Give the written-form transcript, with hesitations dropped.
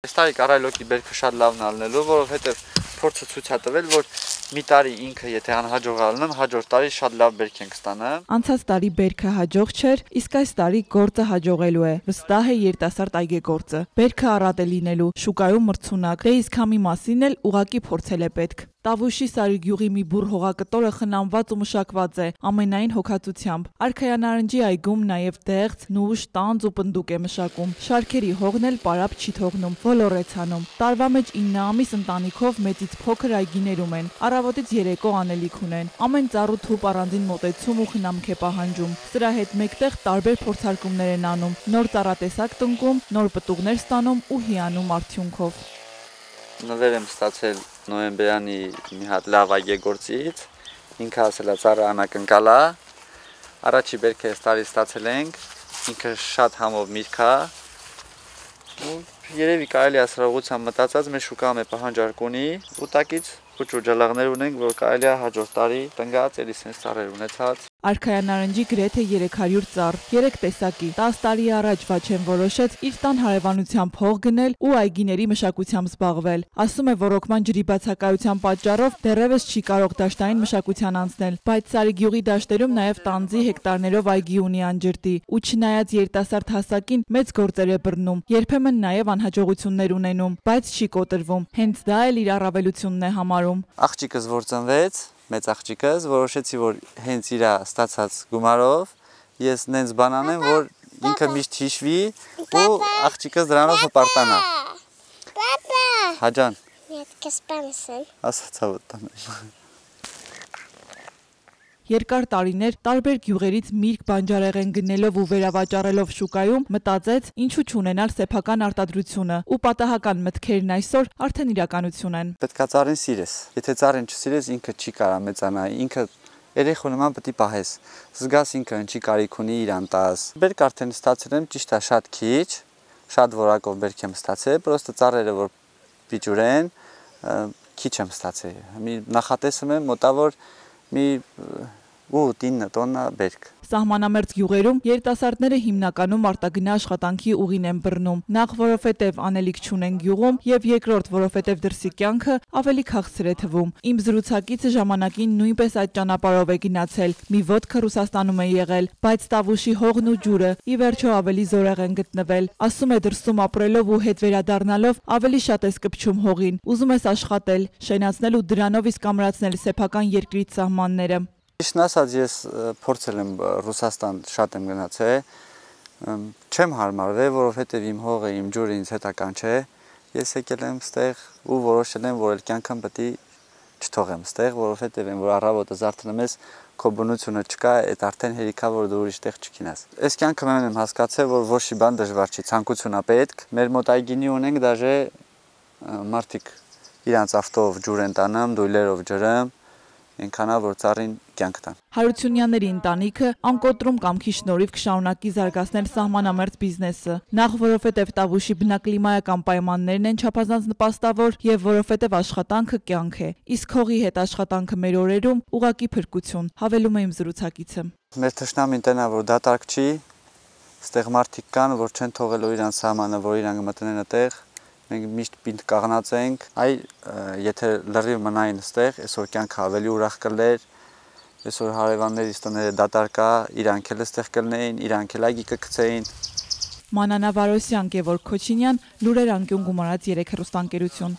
Այս տարի կարայլոկի բերքը շատ լավն ալնելու, որովհետև փորձը ցույց է տվել, որ մի տարի ինքը եթե անհաջող ալնեմ, հաջորդ տարի շատ լավ բերք ենք ստանալ։ Անցած տարի բերքը հաջող չէր, իսկ այս տարի գործը հաջողելու է։ Վստահ է երիտասարդ այգեգործը։ Բերքը առատ է լինելու, շուկայում մրցունակ, դե իսկ համի մասին էլ ուղակի փորձել է պետք։ Տավուշի Սարիգյուղի մի բուռ հողակտորը խնամված ու մշակված է, ամենայն հոգացությամբ։ Արքայանարնջի այգում նաև դեղց, նուշ, տանձ ու պնդուկ է մշակում։ Շարքերի հողն էլ պարապ չի թողնում, ոլոր է ցանում։ Տարվա մեջ 9 ամիս ընտանիքով մեծից փոքր այգիներում են, առավոտից երեկո անելիք ունեն։ Ամեն ծառու թուփ առանձին մոտեցում ու խնամք է պահանջում։ Սրա հետ մեկտեղ տարբեր փորձարկումներ են անում, նոր ծառատեսակ տնկում, նոր պտուղներ ստանում ու հիանում արդյունքով։ Նվեր եմ ստացել նոյեմբերյանի մի հատ լավ այգեգործից, ինքը ասել է ծառը անակնկալ է, առաջի բերքը այս տարի ստացել ենք, ինքը շատ համով միրգ է, ու երևի կարելի է սրա ուղղությամբ մտածած մեր շուկայում է պահանջարկ ունի, ու տակից փոքր ջալաղներ ունենք, որ կարելի է հաջորդ տարի տնկած, էլի սենց ծառեր ունեցած։ Արքայանարնջի գրեթե 300 ծառ, 3 տեսակի, 10 տարի առաջ Վաչեն որոշեց իր տան հարևանությամբ հող գնել ու այգիների մշակությամբ զբաղվել։ Ասում է, ռոռոկման ջրի բացակայության պատճառով դեռևս չի կարող դաշտային մշակության անցնել, բայց Սարիգյուղի դաշտերում նաև տանձի հեկտարներով այգի ունի անջրտի, ու չնայած երիտասարդ հասակին մեծ գործեր է բռնում, երբեմն նաև անհաջողություններ ունենում, բայց չի կոտրվում, հենց դա էլ իր առավելությունն է համարում։ Աղջիկս որ ծնվեց, մեծ աղջիկս, որոշեցի, որ հենց իր ստացած գումարով ես նենց բան անեմ, որ ինքը միշտ հիշվի ու աղջիկս դրանով հպարտանա։ Պապա։ Հաջան։ Нет, կսպանսն։ Ասացա ոտնեմ։ Երկար տարիներ տարբեր գյուղերից միրգ բանջարեղեն գնելով ու վերավաճառելով շուկայում մտածեց ինչու չունենալ սեփական արտադրությունը ու պատահական մտքերն այսօր արդեն իրականություն են։ Պետքա ծառին սիրես։ Եթե ծառին չսիրես, ինքը չի կարա մեծանա, ինքը երեխու նման պետք է պահես։ Զգաս ինքը ինչի կարիք ունի իրան տաս։ Բերք արդեն ստացել եմ, ճիշտ է, շատ քիչ, շատ որակով բերք եմ ստացել, պրոստը ծառերը որ պիճուրեն, քիչ եմ ստացել։ Մի նախատեսում եմ մոտավոր մի 8-9 տոննա բերք։ Սահմանամերձ գյուղերում երիտասարդները հիմնականում արտագնա աշխատանքի ուղին են բռնում, նախ որովհետև անելիք չունեն գյուղում եւ երկրորդ որովհետև դրսի կյանքը ավելի քաղցր է թվում։ Իմ զրուցակիցը ժամանակին նույնպես այդ ճանապարհով է գնացել, մի ոտքը Ռուսաստանում է եղել, բայց Տավուշի հողն ու ջուրը ի վերջո ավելի զորեղ են գտնվել։ Ասում է դրսում ապրելով ու հետ վերադառնալով ավելի շատ ես կպչում հողին, ուզում ես աշխատել, շենացնել ու դրանով իսկ ամրացնել սեփական երկրից սահմանները։ Ճիշտն ասած, ես փորձել եմ Ռուսաստան շատ եմ գնացել, չեմ հարմարվել, որովհետև իմ հողը, իմ ջուրը ինձ հետական չէ, ես եկել եմ ստեղ ու որոշել եմ, որ կյանքամ պետք է չթողեմ ստեղ, որովհետև որ առավոտը զարթնում ես, քո բնությունը չկա, այդ արդեն հերիքա, որ դու ուրիշ տեղ չգնաս։ Այս կյանքը մեն եմ հասկացել, որ ոչ մի բան դժվար չի, ցանկություն է պետք։ Մեր մոտ այգինի ունենք, դաժե մարդիկ իրանց ավտով ջուր են տանում, դույլերով ջրում, այնքանա որ ծառին կյանք տան։ Հարությունյանների ընտանիքը անկոտրում կամքի շնորհիվ կշարունակի զարգացնել սահմանամերձ բիզնեսը, նախ որովհետև Տավուշի բնակլիմայական պայմաններն են չափազանց նպաստավոր եւ որովհետև աշխատանքը կյանք է, իսկ հողի հետ աշխատանքը մեր օրերում ուղղակի փրկություն, հավելում է իմ զրուցակիցը։ Մեր թշնամին տենա որ դատարկ չի, ստեղ մարդիկ կան, որ չեն թողելու իրան սահմանը, որ իրան մտնեն այդտեղ։ Մենք միշտ պինդ կաղնած ենք, այ եթե լրիվ մնային ստեղ, այսօր կյանքը ավելի ուրախ կլեր, այսօր հարևաններից տները դատարկ է, իրանք էլ ստեղ կլնեին, իրանք էլ այգի կգցեին։ Մանանա Վարոսյան, Գևորգ Քոչինյան, Լուրեր անկյուն գումարած 3 հեռուստաընկերություն։